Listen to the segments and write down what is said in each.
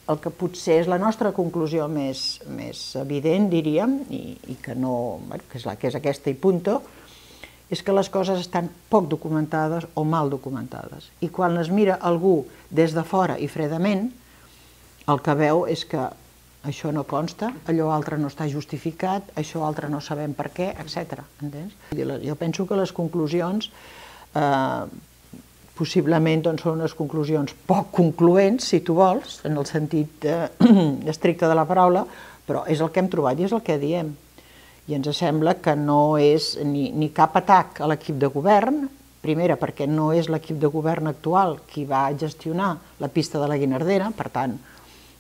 el que potser és la nostra conclusió més evident, diríem, i que és aquesta i punto, és que les coses estan poc documentades o mal documentades. I quan les mira algú des de fora i fredament, el que veu és que això no consta, allò altre no està justificat, això altre no sabem per què, etc. Jo penso que les conclusions possiblement són unes conclusions poc concloents, si tu vols, en el sentit estricte de la paraula, però és el que hem trobat i és el que diem. I ens sembla que no és ni cap atac a l'equip de govern, primera perquè no és l'equip de govern actual qui va gestionar la pista de la Guinardera, per tant,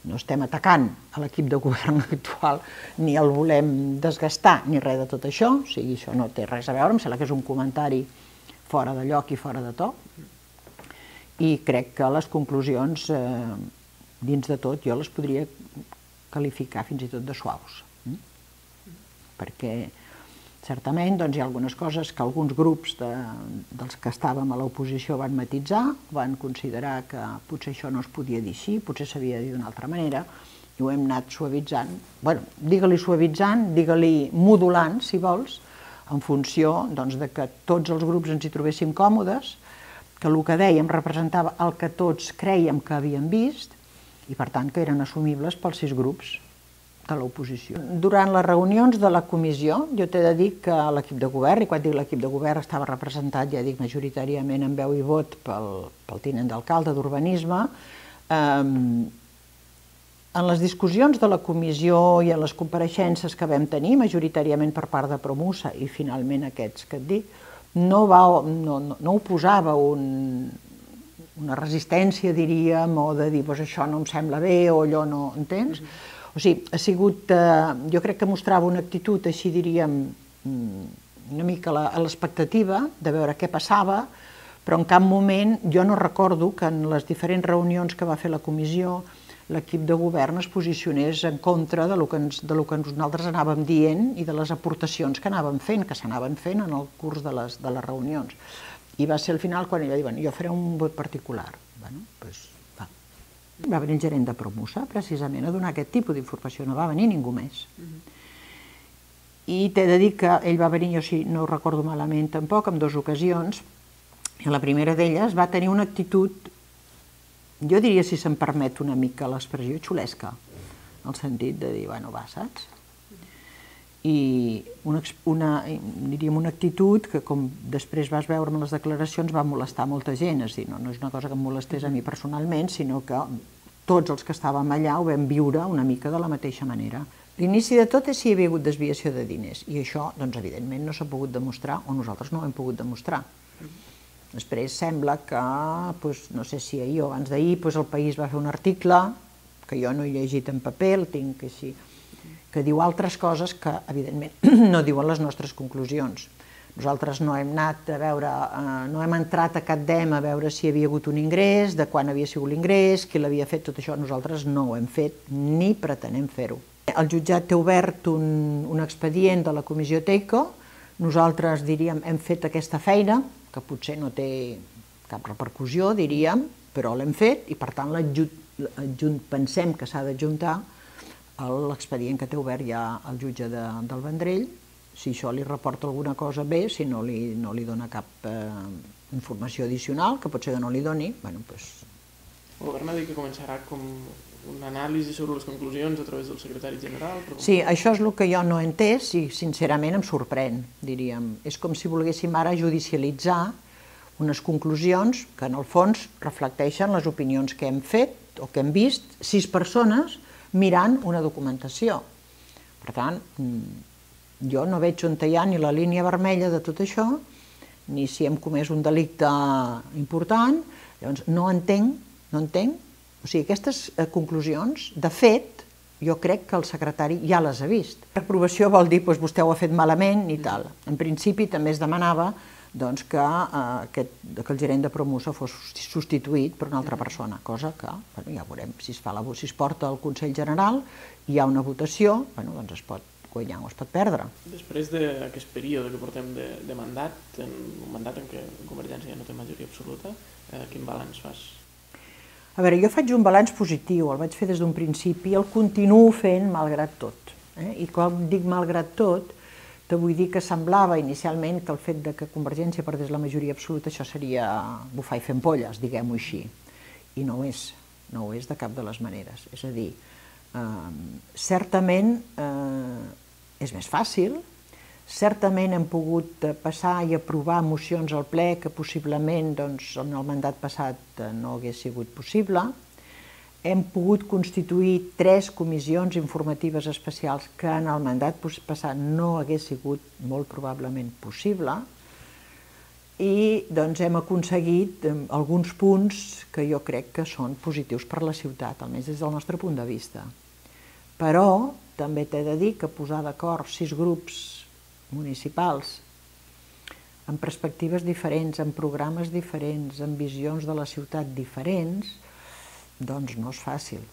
no estem atacant a l'equip de govern actual, ni el volem desgastar, ni res de tot això, o sigui, això no té res a veure, em sembla que és un comentari fora de lloc i fora de to, i crec que les conclusions, dins de tot, jo les podria qualificar fins i tot de suaus. Perquè, certament, hi ha algunes coses que alguns grups dels que estàvem a l'oposició van matisar, van considerar que potser això no es podia dir així, potser s'havia de dir d'una altra manera, i ho hem anat suavitzant. Bé, digue-li suavitzant, digue-li modulant, si vols, en funció de que tots els grups ens hi trobéssim còmodes, que el que dèiem representava el que tots crèiem que havíem vist i, per tant, que eren assumibles pels 6 grups de l'oposició. Durant les reunions de la comissió, jo t'he de dir que l'equip de govern, i quan dic l'equip de govern estava representat, ja dic, majoritàriament en veu i vot pel tinent d'alcalde d'Urbanisme, en les discussions de la comissió i en les compareixences que vam tenir, majoritàriament per part de Promusa i finalment aquests que et dic, no oposava una resistència, diríem, o de dir això no em sembla bé o allò no entens. O sigui, ha sigut, jo crec que mostrava una actitud, així diríem, una mica a l'expectativa de veure què passava, però en cap moment jo no recordo que en les diferents reunions que va fer la comissió l'equip de govern es posicionés en contra del que nosaltres anàvem dient i de les aportacions que anàvem fent, que s'anaven fent en el curs de les reunions. I va ser al final quan ella va dir, jo faré un vot particular. Va venir el gerent de Promusa, precisament, a donar aquest tipus d'informació, no va venir ningú més. I t'he de dir que ell va venir, jo si no ho recordo malament tampoc, en 2 ocasions, i la primera d'elles va tenir una actitud, jo diria, si se'm permet una mica l'expressió, xulesca, en el sentit de dir, bueno, va, saps? I diríem una actitud que, com després vas veure en les declaracions, va molestar molta gent, és a dir, no és una cosa que em molestés a mi personalment, sinó que tots els que estàvem allà ho vam viure una mica de la mateixa manera. L'inici de tot és si hi havia hagut desviació de diners, i això, doncs, evidentment, no s'ha pogut demostrar, o nosaltres no ho hem pogut demostrar. Després sembla que, no sé si ahir o abans d'ahir, el País va fer un article, que jo no he llegit en paper, el tinc així, que diu altres coses que, evidentment, no diuen les nostres conclusions. Nosaltres no hem anat a veure, no hem entrat a cap DEM a veure si hi havia hagut un ingrés, de quan havia sigut l'ingrés, qui l'havia fet, tot això nosaltres no ho hem fet, ni pretenem fer-ho. El jutjat té obert un expedient de la comissió TEICO, nosaltres, diríem, hem fet aquesta feina, que potser no té cap repercussió, diríem, però l'hem fet i, per tant, pensem que s'ha d'adjuntar l'expedient que té obert ja el jutge del Vendrell. Si això li reporta alguna cosa bé, si no li dona cap informació addicional, que pot ser que no li doni, doncs... El govern ha dit que començarà com una anàlisi sobre les conclusions a través del secretari general? Sí, això és el que jo no he entès i sincerament em sorprèn, diríem. És com si volguéssim ara judicialitzar unes conclusions que en el fons reflecteixen les opinions que hem fet o que hem vist 6 persones mirant una documentació. Per tant, jo no veig on hi ha ni la línia vermella de tot això, ni si hem comès un delicte important, llavors no entenc, o sigui, aquestes conclusions, de fet, jo crec que el secretari ja les ha vist. Reprovació vol dir, vostè ho ha fet malament i tal. En principi també es demanava que el gerent de Promusa fos substituït per una altra persona, cosa que ja veurem si es porta al Consell General, hi ha una votació, doncs es pot guanyar o es pot perdre. Després d'aquest període que portem de mandat, un mandat en què Convergència no té majoria absoluta, quin balanç fas? A veure, jo faig un balanç positiu, el vaig fer des d'un principi i el continuo fent malgrat tot. I quan dic malgrat tot, te vull dir que semblava inicialment que el fet de que Convergència perdés la majoria absoluta això seria bufar i fer ampolles, diguem-ho així. I no ho és, no ho és de cap de les maneres. És a dir, certament és més fàcil, certament hem pogut passar i aprovar mocions al ple que possiblement en el mandat passat no hagués sigut possible. Hem pogut constituir 3 comissions informatives especials que en el mandat passat no hagués sigut molt probablement possible i hem aconseguit alguns punts que jo crec que són positius per la ciutat, almenys des del nostre punt de vista. Però també t'he de dir que posar d'acord 6 grups municipals amb perspectives diferents, amb programes diferents, amb visions de la ciutat diferents, doncs no és fàcil.